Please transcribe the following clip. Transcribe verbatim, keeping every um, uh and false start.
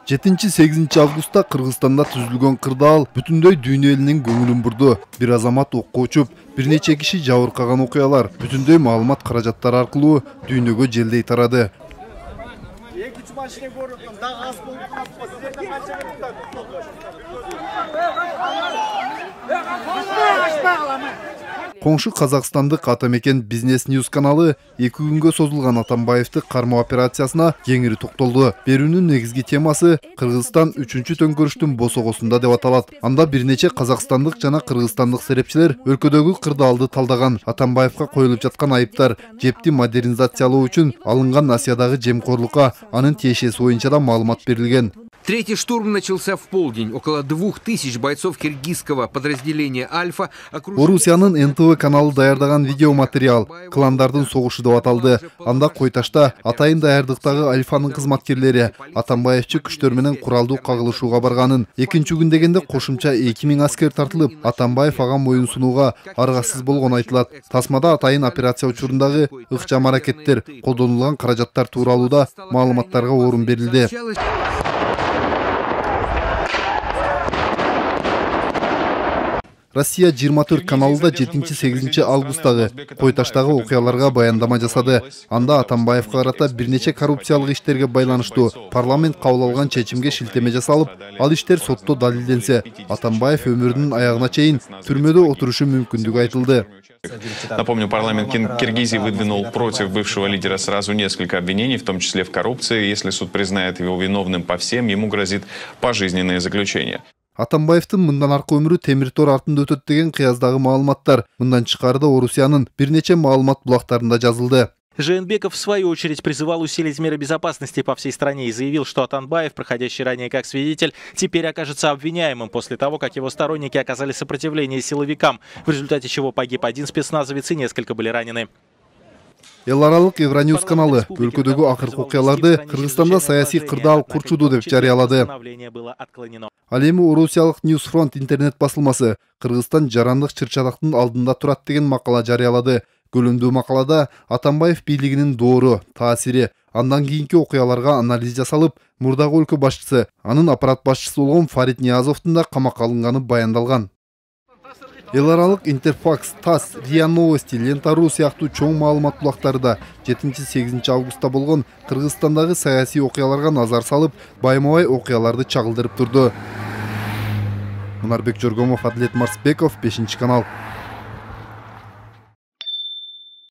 жетинчи сегизинчи августта Кыргызстанда түзүлгөн кырдаал бүтүндөй дүйнө элинин көңүлүн бурду. Бир азамат окко учуп, бир нече киши жабыркаган окуялар бүтүндөй маалымат каражаттары аркылуу дүйнөгө желдей тарады. Коңшу Казакстандык Атамекен Бизнес Ньюс каналы эки күнгө созулган Атамбаевди кармоо операциясына кеңири токтолду. Берүүнүн негизги темасы Кыргызстан үчүнчү төңкөрүштүн босогосунда деп аталат. Анда бир нече казакстандык жана кыргызстандык серепчилер өлкөдөгү кырдаалды талдаган. Атамбаевга коюлуп жаткан айыптар жепти модернизациялоо үчүн алынган Асиядагы жемкорлукка анын тиешеси боюнча да маалымат берилген. Третий штурм начался в полдень. Около двух тысяч бойцов киргизского подразделения «Альфа» окружили... Орусиянын эн тэ вэ каналы даярдаган видеоматериал «Кландардын согушу» деп аталды. Анда Койташта атайын даярдыктагы Альфанын кызматкерлери Атамбаевчи күчтөр менен куралдуу кагылышууга барганын, экинчи күн дегенде кошумча эки миң аскер тартылып, Атамбаев ага моюн сунууга аргасыз болгону айтылат. Тасмада атайын операция учурундагы ыкчам аракеттер, колдонулган каражаттар тууралуу да маалыматтарга орун берилди. Россия жыйырма төрт каналында жетинчи сегизинчи августтагы Койташтагы окуяларга баяндама жасады. Анда Атамбаевга карата бир нече коррупциялык иштерге байланыштуу парламент кабыл алган чечимге шилтеме жасалып, ал иштер сотто далилденсе, Атамбаев өмүрүнүн аягына чейин түрмөдө отурушу мүмкүндүгү айтылды. Напомню, парламент Киргизии выдвинул против бывшего лидера сразу несколько обвинений, в том числе в коррупции. Если суд признает его виновным по всем, ему грозит пожизненное заключение. Атамбаевдин мындан аркы өмүрү темир тор артында өтөт деген кыяздагы маалыматтар мындан тышкары Орусиянын бир нече маалымат булактарында жазылды. Жээнбеков, в свою очередь, призывал усилить меры безопасности по всей стране и заявил, что Атамбаев, проходящий ранее как свидетель, теперь окажется обвиняемым после того, как его сторонники оказали сопротивление силовикам, в результате чего погиб один спецназовец и несколько были ранены. Эл аралык Евроньюс каналы өлкөдөгү акыркы окуяларды Кыргызстанда саясий кырдаал курчуду деп жарыялады. Ал эми Орусиялык Ньюсфронт интернет басылмасы Кыргызстан жарандык чыр-чатактын алдында турат деген макала жарыялады. Көлөмдүү макалада Атамбаев бийлигинин доору, таасири, андан кийинки окуяларга анализ жасалып, мурдагы өлкө башчысы, анын аппарат башчысы болгон Фарид Ниязовдун да камакка алынганы баяндалган. Эл аралык Интерфакс, ТАСС, РИА Новости, Лента.ру сыяктуу чоң маалымат булактары да жетинчи сегизинчи августта болгон Кыргызстандагы саясий окуяларга назар салып, байма-бай окуяларды чагылдырып турду. Мунарбек Жоргомов, Адлет Марсбеков, бешинчи канал.